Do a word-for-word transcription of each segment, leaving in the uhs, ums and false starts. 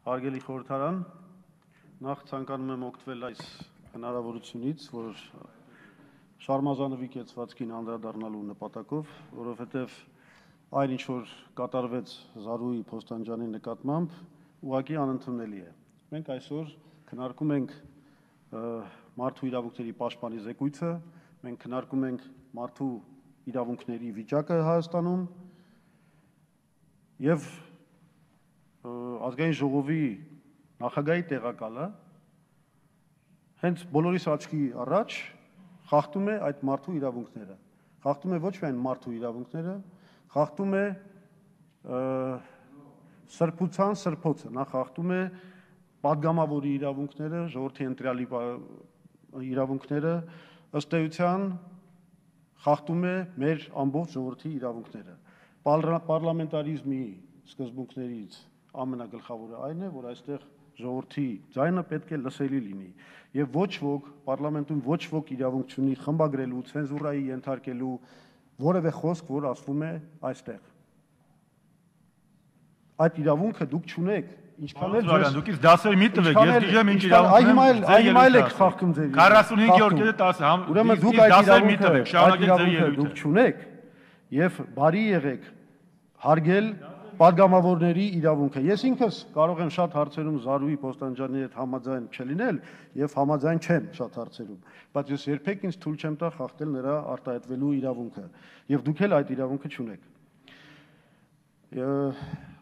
Հարգելի խորհրդարան, նախ ցանկանում եմ օգտվել այս հնարավորությունից, որ շարմազանվի կեցվածքին անդրադառնալու նպատակով, որովհետև այն ինչ որ կատարվեց Զարուհի Փոստանջյանի նկատմամբ, ուղղակի անընդունելի է։ Մենք այսօր քննարկում ենք մարդու իրավունքների պաշտպանի զեկույցը, մենք քննարկում ենք մարդու իրավունքների վիճակը Հայաստանում եւ ազգային ժողովի նախագահի տեղակալը հենց բոլորիս աչքի առաջ խախտում է այդ մարդու իրավունքները, խախտում է ոչ միայն մարդու իրավունքները, խախտում է սրբության սրբոցը, նա խախտում է падգամավորի իրավունքները, ժողովրդի ընտրյալի իրավունքները, ըստ էության խախտում է մեր ամբողջ ժողովրդի իրավունքները։ Պարլամենտարիզմի սկզբունքներից ամենագլխավորը այն է, որ այստեղ ժողովրդի ձայնը պետք է լսելի լինի եւ ոչ ոք պարլամենտում ոչ ոք իրավունք չունի խմբագրելու, ցենզուրայի ենթարկելու որևէ խոսք, որ ասվում է այստեղ։ Այդ իրավունքը դուք չունեք, ինչքան էլ ձեզ դուք դասեր մի տվեք, ես դիժեմ ինչ իրավունք ունեմ։ Այ հիմա էլ եք խախտում ձեր քառասունհինգ օրգեդը տասը, ուրեմն դուք այդ իրավունքը շարունակեք ձեր ելույթը, դուք չունեք եւ բարի եղեք հարգել падգամավորների իրավունքը։ Ես ինքս կարող եմ շատ հարցերում Զարուհի Փոստանջյանի հետ համաձայն չլինել եւ համաձայն չեմ շատ հարցերում, բայց ես երբեք ինձ թույլ չեմ տա խախտել նրա արտահայտվելու իրավունքը եւ դուք էլ այդ իրավունքը չունեք։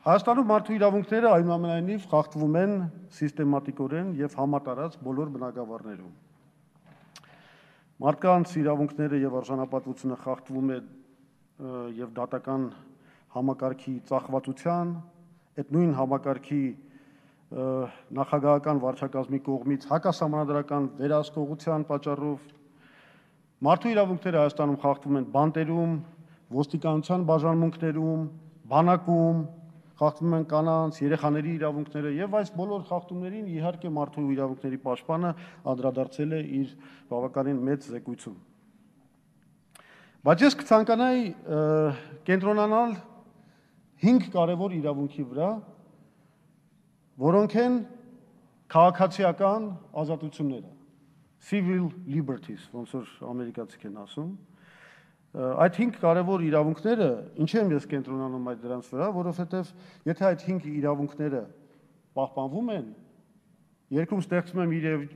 Հայաստանում մարդու իրավունքները այնուամենայնիվ խախտվում են սիստեմատիկորեն եւ համատարած բոլոր բնակավարներում։ Մարդկանց իրավունքները եւ արժանապատվությունը խախտվում է եւ դատական համակարգի ծախվածության, այդ նույն համակարգի նախագահական վարչակազմի կողմից հակասահմանադրական վերահսկողության պատճառով մարդու իրավունքները Հայաստանում խախտվում են բանտերում, ոստիկանության բաժանմունքներում, բանակում, խախտվում են կանանց, երեխաների իրավունքները եւ այս բոլոր խախտումներին իհարկե մարդու իրավունքների պաշտպանը անդրադարձել է իր բավականին մեծ զեկույցում։ Բայց ես կցանկանայի կենտրոնանալ հինգ կարևոր իրավունքի վրա, որոնք են քաղաքացիական ազատությունները, civil liberties, ոնց որ ամերիկացիք են ասում։ Այդ հինգ կարևոր իրավունքները, ինչ եմ ես կենտրոնանում այդ դրանց վրա, որովհետև եթե այդ հինգ իրավունքները պահպանվում են, երկում ստեղծում է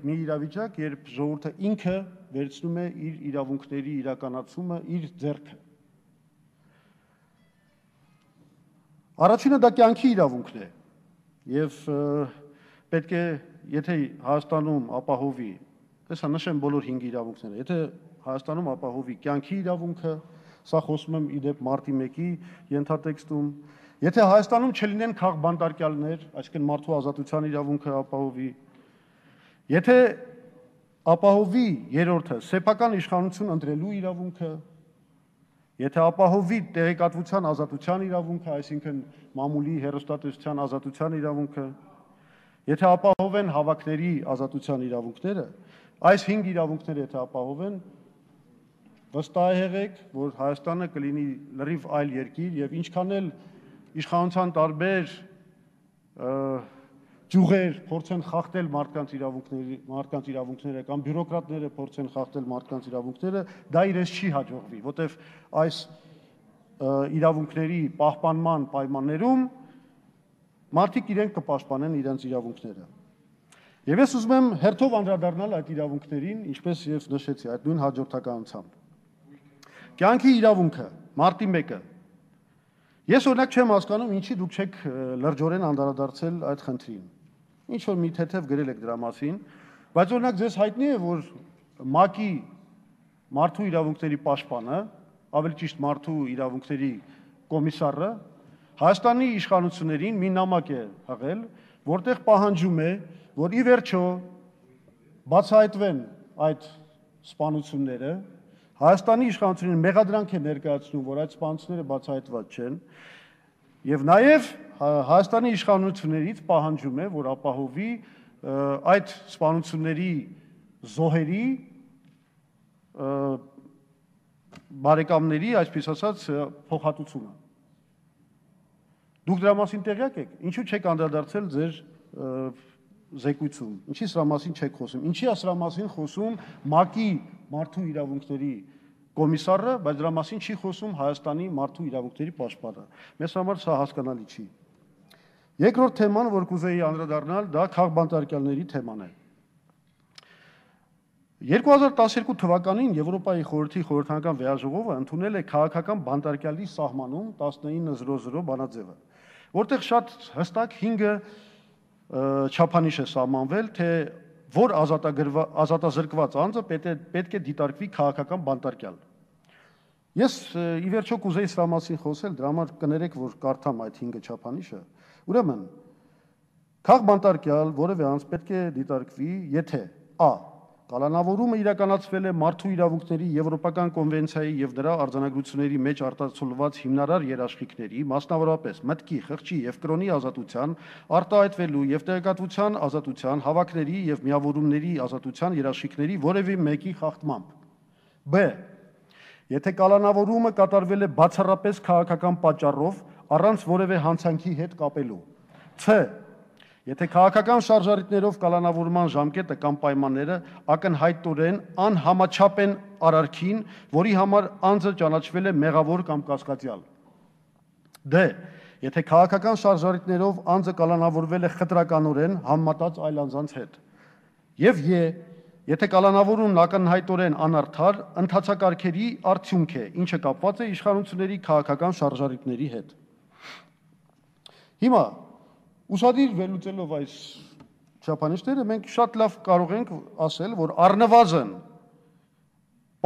մի իրավիճակ, երբ ժողովուրդը ինքը վերցնում է իր իրավունքների իրականացումը իր ձեռքը։ Առաջինը դա կյանքի իրավունքն է եւ պետք է եթե Հայաստանում ապահովի, հեսա նշեմ բոլոր հինգ իրավունքները, եթե Հայաստանում ապահովի կյանքի իրավունքը, սա խոսում եմ իդեպ մարտի մեկի ենթատեքստում, եթե Հայաստանում չլինեն քաղբանտարկյալներ, այսինքն մարդու ազատության իրավունքը ապահովի, եթե ապահովի երրորդը սեփական իշխանություն ընտրելու իրավունքը, եթե ապահովի տեղեկատվության ազատության իրավունքը, այսինքն մամուլի հեռուստատեսության ազատության իրավունքը, եթե ապահովեն հավաքների ազատության իրավունքները, այս հինգ իրավունքները եթե ապահովեն, վստահ եղեք, որ Հայաստանը կլինի լրիվ այլ երկիր եւ ինչքան էլ իշխանության տարբեր ճյուղեր փորձեն խախտել մարդկանց իրավունքների, մարդկանց իրավունքները կամ բյուրոկրատները փորձեն խախտել մարդկանց իրավունքները, դա իրենց չի հաջողվի, որտեվ այս իրավունքների պահպանման պայմաններում մարդիկ իրենք կպաշտպանեն իրենց իրավունքները։ Եվ ես ուզում եմ հերթով անդրադառնալ այդ իրավունքներին, ինչպես ես նշեցի, այդ նույն հաջորդականությամբ։ Կյանքի իրավունքը, մարտի մեկը։ Ես օրինակ չեմ հասկանում, ինչի դուք չեք լրջորեն անդրադարձել այդ խնդրին։ Ինչ որ մի թեթև գրել եք դրա մասին, բայց օրինակ ձեզ հայտնի է, որ ՄԱԿ-ի մարդու իրավունքների պաշտպանը, ավելի ճիշտ մարդու իրավունքների կոմիսարը Հայաստանի իշխանություններին մի նամակ է հղել, որտեղ պահանջում է, որ ի վերջո բացահայտվեն այդ սպանությունները, Հայաստանի իշխանություններին մեղադրանք է ներկայացնում, որ այդ սպանությունները բացահայտված չեն, եւ նաեւ Հայաստանի իշխանություններից պահանջում է, որ ապահովի այդ սպանությունների զոհերի բարեկամների, այսպես ասած, փոխհատուցումը։ Դուք դրա մասին տեղյակ եք, ինչու չեք անդրադարձել ձեր զեկույցում։ Ինչի սրա մասին չեք խոսում։ Ինչի է սրա մասին խոսում ՄԱԿ-ի մարդու իրավունքների կոմիսարը, բայց դրա մասին չի խոսում Հայաստանի մարդու իրավունքների պաշտպանը։ Մեզ համար սա հասկանալի չի։ Երկրորդ թեման, որ կուզեի անդրադառնալ, դա քաղբանտարկյալների թեման է։ երկու հազար տասներկու թվականին Եվրոպայի խորհրդի խորհրդական վեաժողովը ընդունել է քաղաքական բանտարկյալի սահմանում տասնինը զրո զրո բանաձևը, որտեղ շատ հստակ հինգը չափանիշ է սահմանվել, թե որ ազատազրկված անձը պետք է դիտարկվի քաղաքական բանտարկյալ։ Ես ի վերջո կուզեի սրա մասին խոսել, դրա համար կներեք, որ կարդամ այդ հինգը չափանիշը։ Ուրեմն, քաղբանտարկյալ որևէ անձ պետք է դիտարկվի, եթե a. Կալանավորումը իրականացվել է մարդու իրավունքների Եվրոպական կոնվենցիայի եւ դրա արձանագրությունների մեջ արտացոլված հիմնարար երաշխիքների, մասնավորապես մտքի, խղճի եւ կրոնի ազատության, արտահայտվելու եւ տեղեկատվության ազատության, հավաքների եւ միավորումների ազատության երաշխիքների որևէ մեկի խախտմամբ։ B. Եթե կալանավորումը կատարվել է բացառապես քաղաքական պատճառով, առանց որևէ հանցանքի հետ կապելու։ C. Եթե քաղաքական շարժառիթներով կալանավորման ժամկետը կամ պայմանները ակնհայտորեն անհամաչափ են արարքին, որի համար անձը ճանաչվել է մեղավոր կամ կասկածյալ։ D. Եթե քաղաքական շարժառիթներով անձը կալանավորվել է խտրականորեն համեմատած այլ անձանց հետ։ Եվ E. Եթե կալանավորումն ակնհայտորեն անարդար, ընթացակարգերի արդյունք է, ինչը կապված է իշխանությունների քաղաքական շարժառիթների հետ։ Հիմա Ուսադիր վերլուծելով այս չափանիշները, մենք շատ լավ կարող ենք ասել, որ առնվազն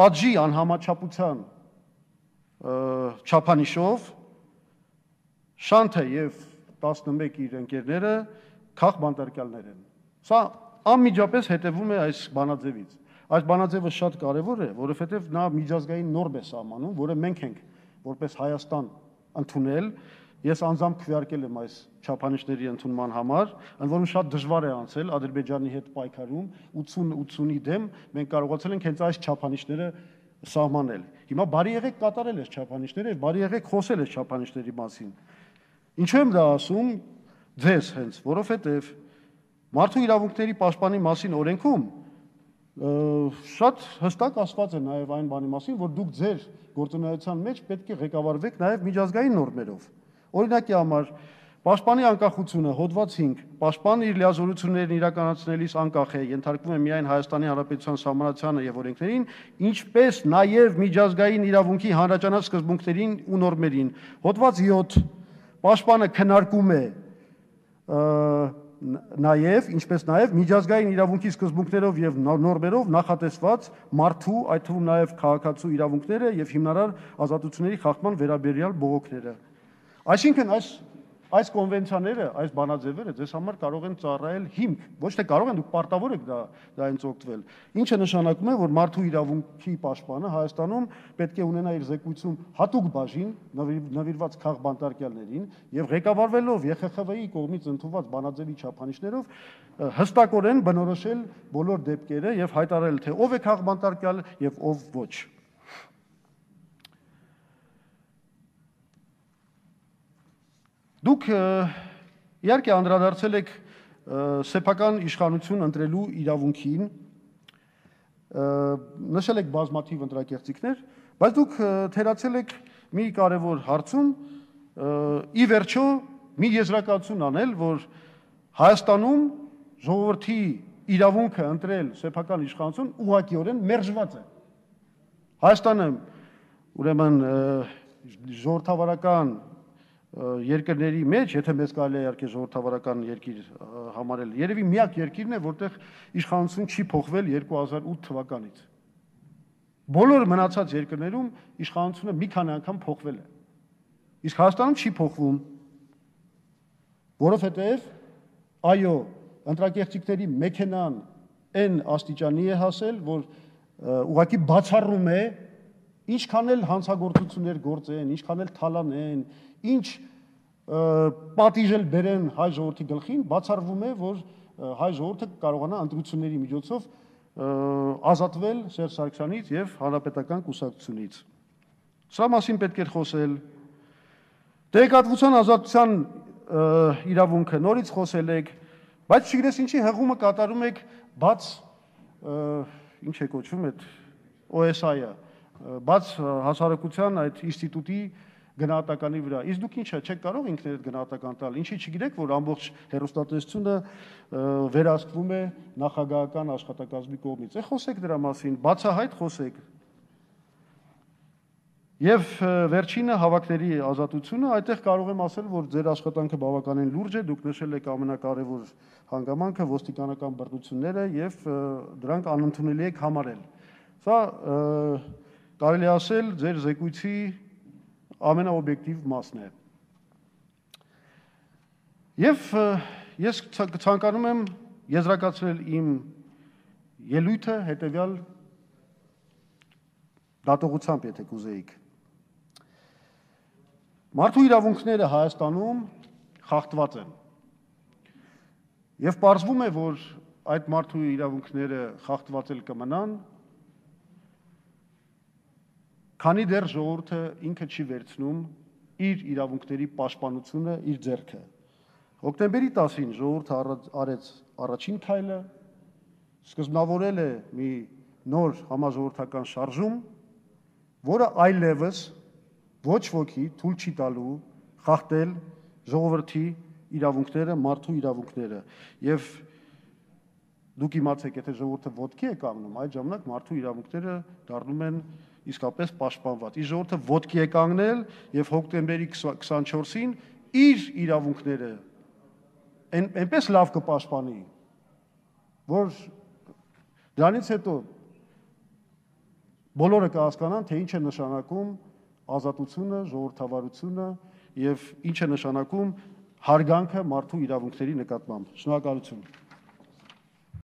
պատժի անհամաչափության չափանիշով Շանթը եւ տասնմեկ իր ընկերները քաղբանտարկյալներ են։ Սա անմիջապես հետևում է այս բանաձևից։ Այս բանաձևը շատ կարևոր է, որովհետեւ նա միջազգային նորմ է սահմանում, որը մենք ենք որպես Հայաստան ընդունել։ Ես անձամբ քվեարկել եմ այս չափանիշների ընդունման համար, ընդ որում շատ դժվար է անցել Ադրբեջանի հետ պայքարում ութուն ութունի դեմ մենք կարողացել ենք հենց այս չափանիշները սահմանել։ Հիմա բարի եղեք կատարել այս չափանիշները եւ բարի եղեք խոսել այս չափանիշների մասին։ Ինչու եմ դա ասում ձեզ հենց, որովհետեւ մարդու իրավունքների պաշտպանի մասին օրենքում շատ հստակ ասված է նաեւ այն բանի մասին, որ դուք ձեր գործունեության մեջ պետք է ղեկավարվեք նաեւ միջազգային նորմերով։ Օրինակի համար Պաշտպանի անկախությունը հոդված հինգ Պաշտպանը իր լիազորություններն իրականացնելիս անկախ է, ենթարկվում է միայն Հայաստանի Հանրապետության սահմանությանը եւ օրենքներին, ինչպես նաեւ միջազգային իրավունքի հանրաճանաչ սկզբունքներին ու նորմերին։ Հոդված յոթ Պաշտպանը քննարկում է նաեւ, ինչպես նաեւ միջազգային իրավունքի սկզբունքներով եւ նորմերով նախատեսված մարդու, այդ թվում նաեւ քաղաքացու իրավունքները եւ հիմնարար ազատությունների խախտման վերաբերյալ բողոքները։ Այսինքն այս այս կոնվենցիաները, այս բանաձևերը ձեզ համար կարող են ծառայել հիմք, ոչ թե կարող են, դուք պարտավոր եք դա դրանից օգտվել։ Ինչը նշանակում է, որ մարդու իրավունքի պաշտպանը Հայաստանում պետք է ունենա իր զեկույցում հատուկ բաժին նվիրված քաղբանտարկյալներին եւ ղեկավարվելով Ե Խ Խ V-ի կողմից ընդունված բանաձևի չափանիշներով հստակորեն բնորոշել բոլոր դեպքերը եւ հայտարարել, թե ով է քաղբանտարկյալ եւ ով ոչ։ Դուք իհարկե անդրադարձել եք սեփական իշխանություն ընտրելու իրավունքին, նշել եք բազմաթիվ ընտրակեղծիքներ, բայց դուք թերացել եք մի կարևոր հարցում, ի վերջո մի եզրակացություն անել, որ Հայաստանում ժողովրդի իրավունքը ընտրել սեփական իշխանություն ուղղակիորեն մերժված է։ Հայաստանը ուրեմն ժողովրդավարական երկրների մեջ, եթե մեզ կարելի է իհարկե ժողովրդավարական երկիր համարել, երևի միակ երկիրն է, որտեղ իշխանություն չի փոխվել երկու հազար ութ թվականից։ Բոլոր մնացած երկրներում իշխանությունը մի քանի անգամ փոխվել է։ Իսկ Հայաստանում չի փոխվում, որովհետև այո, ընտրակեղծիքների մեքենան այն աստիճանի է հասել, որ ուղղակի բացառում է ինչքան էլ հանցագործություններ գործեն, ինչքան էլ թալանեն, ինչ պատիժել բերեն հայ ժողովրդի գլխին, բացառվում է, որ հայ ժողովուրդը կարողանա ընտրությունների միջոցով ազատվել Սերժ Սարգսյանից եւ հանրապետական կուսակցությունից։ Սա մասին պետք է խոսել։ Տեղեկատվության ազատության իրավունքը նորից խոսել եք, Բայց չգիտես ինչի հղումը կատարում եք բաց ինչ է կոչվում այդ O S I-ը, բաց հասարակության այդ ինստիտուտի գնահատականի վրա։ Իսկ դուք ինչա չեք կարող ինքներդ գնահատական տալ։ Ինչի չգիտեք, որ ամբողջ հեռուստատեսությունը վերահսկվում է նախագահական աշխատակազմի կողմից։ Է խոսեք դրա մասին, բացահայտ խոսեք։ Եվ վերջինը հավաքների ազատությունը, այդտեղ կարող եմ ասել, որ ձեր աշխատանքը բավականին լուրջ է, դուք նշել եք ամենակարևոր հանգամանքը ոստիկանական բռնությունները եւ դրանք անընդունելի եք համարել։ Սա կարելի է ասել ձեր զեկույցի ամենաօբյեկտիվ մասն է։ Եվ ես ցանկանում եմ եզրակացնել իմ ելույթը հետեւյալ դատողությամբ, եթե կուզեիք։ Մարդու իրավունքները Հայաստանում խախտված են։ Եվ պարզվում է, որ այդ մարդու իրավունքները խախտված էլ կմնան, քանի դեռ ժողովուրդը ինքը չի վերցնում իր իրավունքների պաշտպանությունը իր ձեռքը։ Հոկտեմբերի տասին ժողովուրդը արեց առաջին քայլը, սկզբնավորել է մի նոր համաժողովրդական շարժում, որը այլևս ոչ ոքի թույլ չի տալու խախտել ժողովրդի իրավունքները, մարդու իրավունքները։ Եվ դուք իմացեք, եթե ժողովուրդը ոտքի է կանգնում, այդ ժամանակ մարդու իրավունքները դառնում են իսկապես պաշտպանված։ Իսկ ժողովուրդը ոտքի է կանգնել եւ հոկտեմբերի քսանչորսին իր իրավունքները այնպես լավ կպաշտպանի, որ դրանից հետո բոլորը կհասկանան, թե ինչ է նշանակում ազատությունը, ժողովրդավարությունը եւ ինչ է նշանակում հարգանքը մարդու իրավունքների նկատմամբ։ Շնորհակալություն։